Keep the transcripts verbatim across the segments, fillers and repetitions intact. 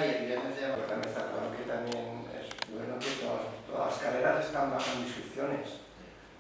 y el viernes ya, pero también está claro que también es bueno que todas, todas las carreras están bajando inscripciones.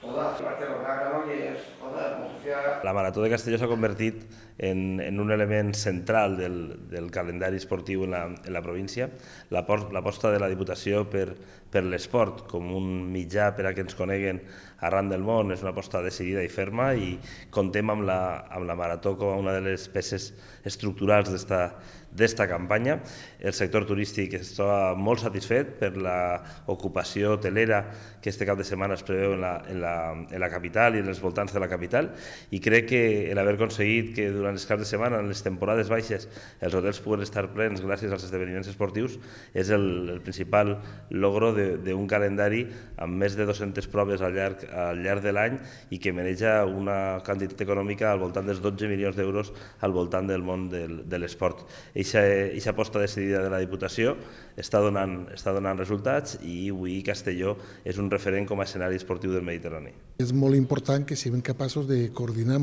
Todas. Barcelona, Granollers, joder, Murcia... La Marató de Castelló s'ha convertit en, en un element central del, del calendari esportiu en la, en la província. L'aposta de la Diputació per, per l'esport com un mitjà per a que ens coneguen arran del món és una aposta decidida i ferma i contem amb la, amb la Marató com una de les peces estructurals d'esta campanya. El sector turístic està molt satisfet per l'ocupació hotelera que este cap de setmana es preveu en la, en la, en la capital i en els voltants de la capital, i crec que l'haver aconseguit que durant els caps de setmana, en les temporades baixes, els hotels puguen estar plens gràcies als esdeveniments esportius és el, el principal logro d'un calendari amb més de dues-centes proves al llarg, al llarg de l'any i que maneja una quantitat econòmica al voltant dels dotze milions d'euros al voltant del món del, de l'esport. Aquesta aposta decidida de la Diputació està donant, està donant resultats i avui Castelló és un referent com a escenari esportiu del Mediterrani. És molt important que siguem capaços de coordinar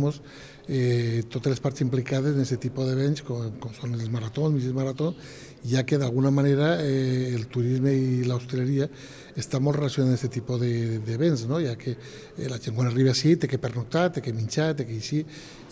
eh, totes les parts implicades en aquest tipus d'events, com, com són els maratons, mitjans maratons, ja que d'alguna manera eh, el turisme i l'hostaleria està molt relacionat amb aquest tipus d'events, no? Ja que eh, la gent quan arriba així té que pernoctar, té que menjar, té que així,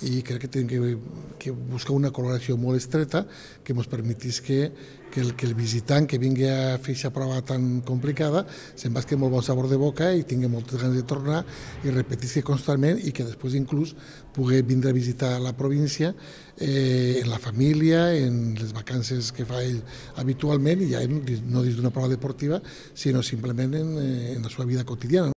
i crec que hem que, que buscar una col·laboració molt estreta que ens permetís que, que, el, que el visitant que vingui a fer aquesta prova tan complicada se'n basqui molt bon sabor de boca i tingui moltes ganes de tornar i repetir-se constantment i que després inclús pugui vindre a visitar la província eh, en la família, en les vacances que fa ell habitualment i ja no dins d'una prova deportiva sinó simplement en, en la seva vida quotidiana.